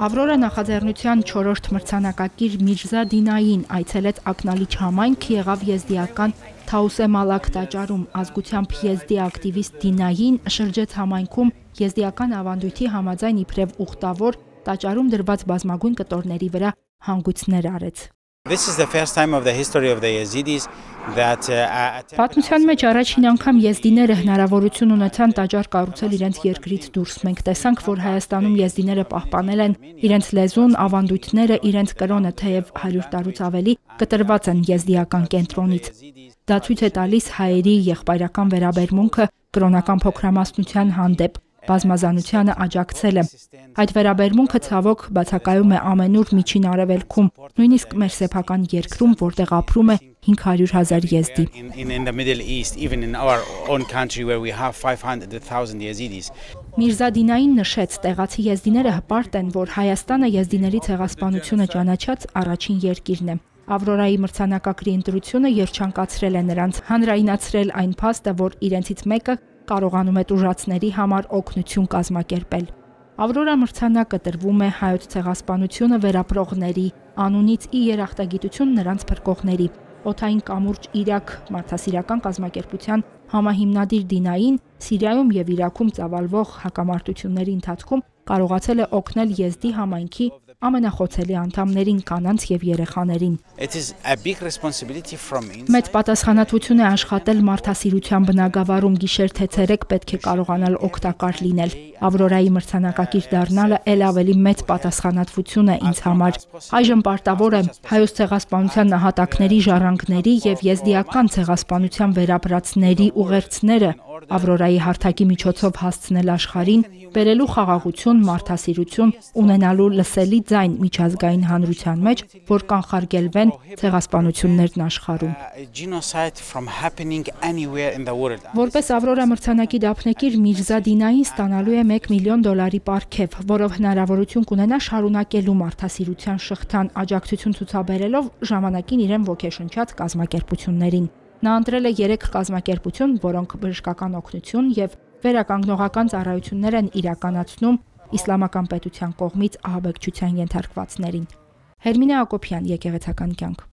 Ավրորա նախաձեռնության 4-րդ մրցանակակիր Միրզա Դինային այցելեց ակնալիչ համայնք, եղավ եզդիական Թաուսե Մալաք տաճարում, ազգությամբ եզդի ակտիվիստ Դինային շրջեց համայնքում եզդիական ավանդույթի համաձայն իբրև ուխտավոր տաճարում դրված բազմագույն կտորների վրա հանգույցներ արեց։ Պատմության մեջ առաջին անգամ եզդիները հնարավորություն ունեցան տաճար կառուցել իրենց երկրից դուրս։ Մենք տեսանք, որ Հայաստանում եզդիները պահպանել են իրենց լեզուն, ավանդույթները, իրենց կրոնը, թեև 100 տարուց ավելի կտրված են եզդիական կենտրոնից։ Դա ցույց է տալիս հայերի եղբայրական վերաբերմունքը կրոնական փոքրամասնության հանդեպ, բազմազանությանը աջակցելը։ Այդ վերաբերմունքը ցավոք բացակայում է ամենուր միջին արևելքում, նույնիսկ մեր սեփական երկրում, որտեղ ապրում է 500,000 եզդի։ Միրզա Դինային նշեց, տեղացի եզդիները հպարտ են, որ Հայաստանը եզդիների ցեղասպանությունը ճանաչած առաջին երկիրն է։ Ավրորայի մրցանակակրի ընտրությունը երջանկացրել է նրանց, հանրայնացրել այն փաստը, որ իրենցից մեկը կարողանում է տուժածների համար օգնություն կազմակերպել։ Ավրորա մրցանակը տրվում է հայոց ցեղասպանությունը վերապրողների անունից ի երախտագիտություն նրանց փրկողների։ Օդային կամուրջ Իրաք մարդասիրական կազմակերպության համահիմնադիր Դինային Սիրիայում եւ Իրաքում ծավալվող հակամարտությունների ընթացքում կարողացել է օգնել եզդի համայնքի ամենախոցելի անդամներին, կանանց եւ երեխաներին։ Մեծ պատասխանատվություն է աշխատել մարդասիրության բնագավառում, գիշեր թե ցերեկ պետք է կարողանալ օգտակար լինել։ Ավրորայի մրցանակակիր դառնալը ել ավելի մեծ պատասխանատվություն է ինձ համար։ Այժմ պարտավոր եմ հայոց ցեղասպանության նահատակների, ժառանգների եւ եզդիական ցեղասպանության վերապրածների ուղերձները Ավրորայի հարթակի միջոցով հասցնել աշխարհին, բերելու խաղաղություն, մարդասիրություն, ունենալու լսելի ձայն միջազգային հանրության մեջ, որ կանխարգելվեն ցեղասպանություններն աշխարհում։ Որպես Ավրորա մրցանակի դափնեկիր Միրզա Դինային ստանալու է $1 միլիոն պարգև, որով հնարավորություն կունենա շարունակելու մարդասիրության շղթան, աջակցություն ցուցաբերելով ժամանակին իրեն ոգեշնչած կազմակերպություններին։ Նա ընտրել է 3 կազմակերպություն, որոնք բժշկական օգնություն եւ վերականգնողական ծառայություններ են իրականացնում իսլամական պետության կողմից ահաբեկչության ենթարկվածներին։ Հերմինե Ակոբյան, Եկեղեցական կյանք։